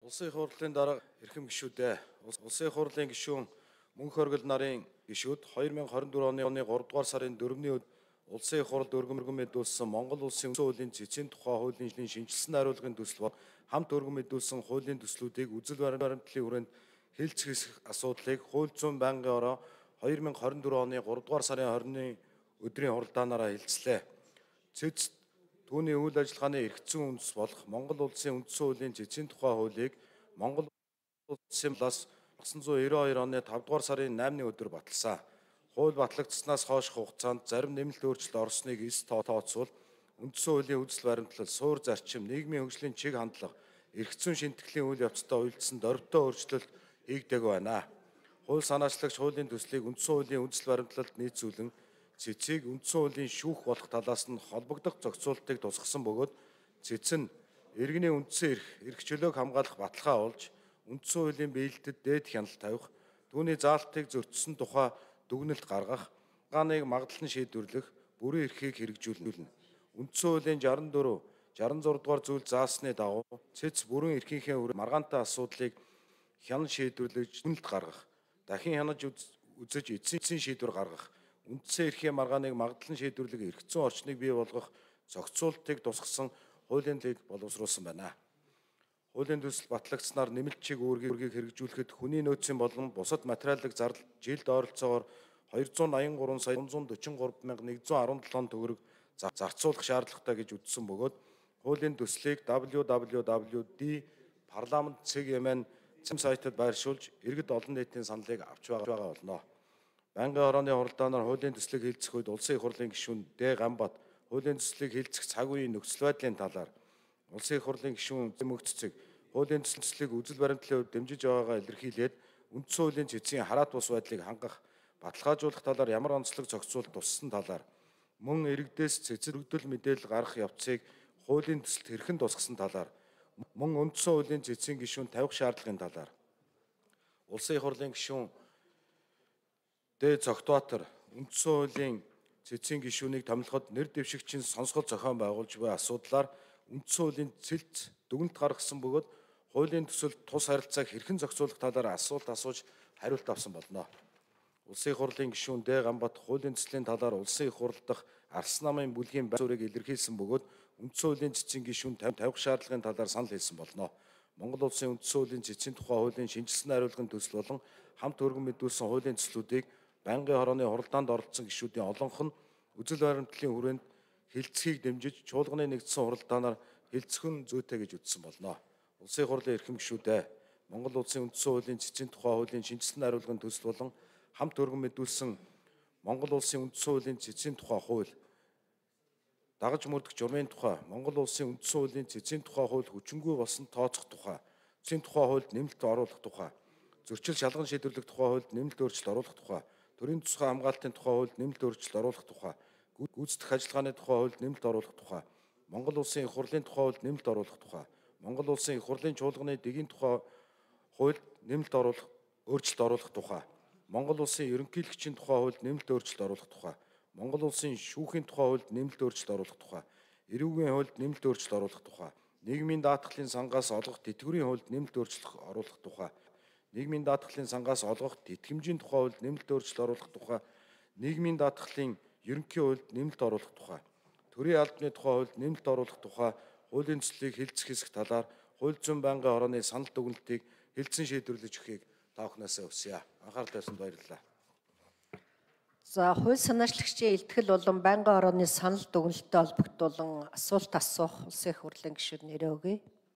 Улсын их хурлын дарга эрхэм гишүүдээ Улсын их хурлын гишүүн Мөнх оргил нарын гишүүд 2024 оны 3 дугаар сарын 4-ний өдөр Улсын их хурлд өргөн мэдүүлсэн Монгол Улсын үндсэн хуулийн цэцгийн тухай хуулийн шинжилсэн хариулгын төсөл хамт өргөн мэдүүлсэн хуулийн төслүүдийг үзэл баримтлалын хүрээнд хэлцэх асуудлыг хууль зүйн байнгын ороо 2024 оны 3 дугаар сарын 20-ны өдрийн хуралдаанаараа хэлцлээ. Цэц түүний үйл ажиллагааны эргэцэн үндэс болох Монгол Улсын үндсэн хуулийн цэцгийн тухай хуулийг Монгол Улсын талаас 1992 оны 5 дугаар сарын 8-ны өдөр баталсан. Хууль батлагдсанаас хойш хугацаанд зарим нэмэлт өөрчлөлт орсныг эс тооцвол үндсэн хуулийн үзэл баримтлал, суур зарчим, нийгмийн хөгжлийн чиг хандлага, эргэцэн шинтгэлийн үйл явцтай уялдсан дорвитой өөрчлөлт хийгдэг байна. Хууль санаачлагч хуулийн төслийг үндсэн хуулийн үзэл баримтлалд нийцүүлэн цэцгийг үндсэн хуулийн шүүх болох талаас нь холбогдох зохицуултыг тусгасан бөгөөд цэц нь иргэний үндсэн эрх чөлөөг хамгаалах баталгаа олж үндсэн хуулийн биелэлтэд дээд хяналт тавих, түүний заалтыг зөрчсөн тухай дүгнэлт гаргах, гааныг магадлан шийдвэрлэх, бүрэн эрхийг хэрэгжүүлнэ. Үндсэн хуулийн 64, 66 дугаар зүйл заасны дагуу цэц бүрэн эрхийнхээ маргаантай асуудлыг хянан шийдвэрлэж дүгнэлт гаргах, дахин хянаж үзэж эцсийн шийдвэр гаргах, үндсэн эрхийн маргааныг магадлан шийдвэрлэх эргэцэн орчныг бий болгох зохицуултыг тусгасан хуулийн төслийг боловсруулсан байна. Хуулийн төсөл батлагдсанаар нэмэлт чиг үүргийг хэрэгжүүлэхэд хүний нөөцийн болон бусад материалын зардал жилд ойролцоогоор 283 сая 343,117 төгрөг зарцуулах шаардлагатай гэж үзсэн бөгөөд хуулийн төслийг www.d-parliament.cgmn сайтад байршуулж иргэд олон нийтийн саналыг авч байгаа болно. Байнгын орооны хуралдаанаар хуулийн төслийг хэлцэх үед Улсын их хурлын гишүүн Д. Ганбат хуулийн төслийг хэлцэх цаг үеийн нөхцөл байдлын талаар Улсын их хурлын гишүүн Мөнх цэцэг хуулийн төслийг үзэл баримтлалын хувьд дэмжиж байгаагаа илэрхийлээд үндсэн хуулийн цэцгийн хараат бус байдлыг хангах, баталгаажуулах талаар ямар онцлог зохицуулт туссан талаар мөн иргэдээс цэцэд өргөдөл мэдээлэл гаргах явцыг хуулийн төсөлд хэрхэн тусгасан талаар мөн үндсэн хуулийн цэцгийн гишүүн тавих шаардлагын талаар Улсын их хурлын гишүүн Д. Цогтбаатар үндсэн хуулийн цэцгийн гишүүнийг томилоход нэр дэвшигчийн сонсгол зохион байгуулж буй асуудлаар үндсэн хуулийн цэлд дүгнэлт гаргасан бөгөөд хуулийн төсөлд тус харилцааг хэрхэн зохицуулах талаар асуулт асууж хариулт авсан болно. Улсын их хурлын гишүүн Д. Ганбат хуулийн төслийн талаар улсын их хурл дахь Арс намын бүлгийн байр суурийг илэрхийлсэн бөгөөд үндсэн хуулийн цэцгийн гишүүн тавих шаардлагын талаар санал хэлсэн болно. Монгол Улсын үндсэн хуулийн цэцгийн тухай хуулийн шинжилсэн хариулгын төсөл болон хамт өргөн мэдүүлсэн хуулийн төслүүдийг байнгын хорооны хуралдаанд оролцсон гишүүдийн олонх нь үзэл баримтлалын хүрээнд хэлцэхийг дэмжиж чуулганы нэгдсэн хуралдаанаар хэлцэх нь зүйтэй гэж үзсэн болно. Улсын их хурлын эрхэм гишүүдээ Монгол Улсын үндсэн хуулийн цэцгийн тухай хуулийн шинжилсэн хариулгын төсөл болон хамт өргөн мэдүүлсэн Монгол Улсын үндсэн хуулийн цэцгийн тухай хууль, дагаж мөрдөх журмын тухай, Монгол Улсын үндсэн хуулийн цэцгийн тухай хууль хүчингүй болсон тооцох тухай, цэцгийн тухай хуульд нэмэлт оруулах тухай, зөрчил шалган шийдвэрлэх тухай хуульд нэмэлт өөрчлөлт оруулах тухай, төрийн тусгай хамгаалтын тухай хуульд нэмэлт өөрчлөлт оруулах тухай, гүйцэтгэх ажиллагааны тухай хуульд нэмэлт оруулах тухай, Монгол Улсын их хурлын тухай хуульд нэмэлт оруулах тухай, Монгол Улсын их хурлын чуулганы дэгийн тухай хуульд нэмэлт өөрчлөлт оруулах тухай, Монгол Улсын ерөнхийлөгчийн тухай хуульд нэмэлт өөрчлөлт оруулах тухай, Монгол Улсын шүүхийн тухай хуульд нэмэлт өөрчлөлт оруулах тухай, эрүүгийн хуульд нэмэлт өөрчлөлт оруулах тухай, нийгмийн даатгалын сангаас олгох тэтгэврийн хуульд нэмэлт өөрчлөлт оруулах тухай, нийгмийн даатгалын сангаас олгох тэтгэмжийн тухай хуульд нэмэлт өөрчлөлт оруулах тухай, нийгмийн даатгалын ерөнхий хуульд нэмэлт оруулах тухай, төрийн албаны тухай хуульд нэмэлт оруулах тухай хуулийн төслийг хэлцэх хэсэг талаар хууль зүйн байнгын орооны санал дүгнэлтийг хэлцэн шийдвэрлэж өгөхийг та бүхнээсээ хүсье. Анхаарал тавьсанд баярлалаа. За, хууль санаачлагчийн илтгэл болон байнгын орооны санал дүгнэлттэй холбогдуулан асуулт асуух Улсын их хурлын гишүүд нэрээ өгье.